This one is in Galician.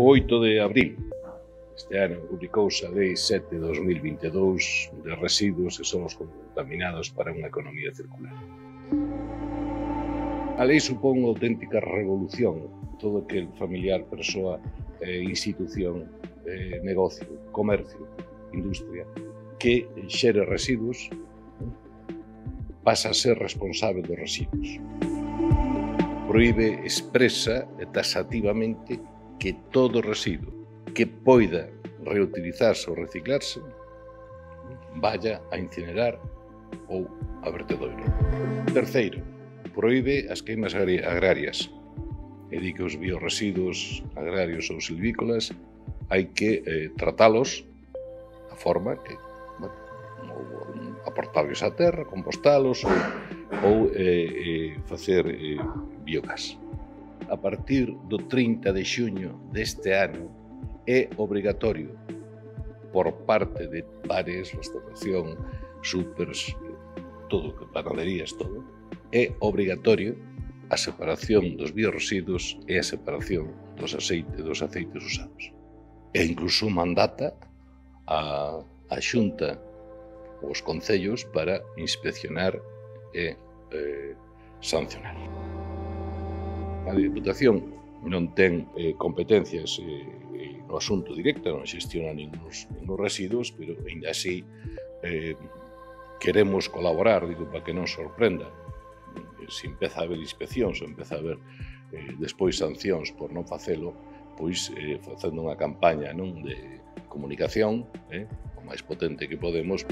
O 8 de abril este ano publicouse a Lei 7/2022 de residuos e solos contaminados para unha economía circular. A lei supón unha auténtica revolución todo aquel familiar, persoa, institución, negocio, comercio, industria que xere residuos pasa a ser responsable dos residuos. Proíbe expresa e taxativamente que todo residuo que poida reutilizarse ou reciclarse vaya a incinerar ou a vertedoiro. Terceiro, proíbe as queimas agrarias e di que os biorresiduos agrarios ou silvícolas hai que tratalos da forma que, bueno, aportarlos á terra, compostalos ou facer biogás. A partir do 30 de xuño deste ano é obrigatorio por parte de bares, restauración, supers, todo, panaderías, todo, é obrigatorio a separación dos biorresiduos e a separación dos aceites usados. E incluso mandata a Xunta os concellos para inspeccionar e sancionar. A Diputación non ten competencias no asunto directo, non xestiona ninguns residuos, pero ainda así queremos colaborar, digo, para que non sorprenda. Se empeza a haber inspeccións, ou empeza a haber despois sancións por non facelo, pois facendo unha campaña de comunicación o máis potente que podemos.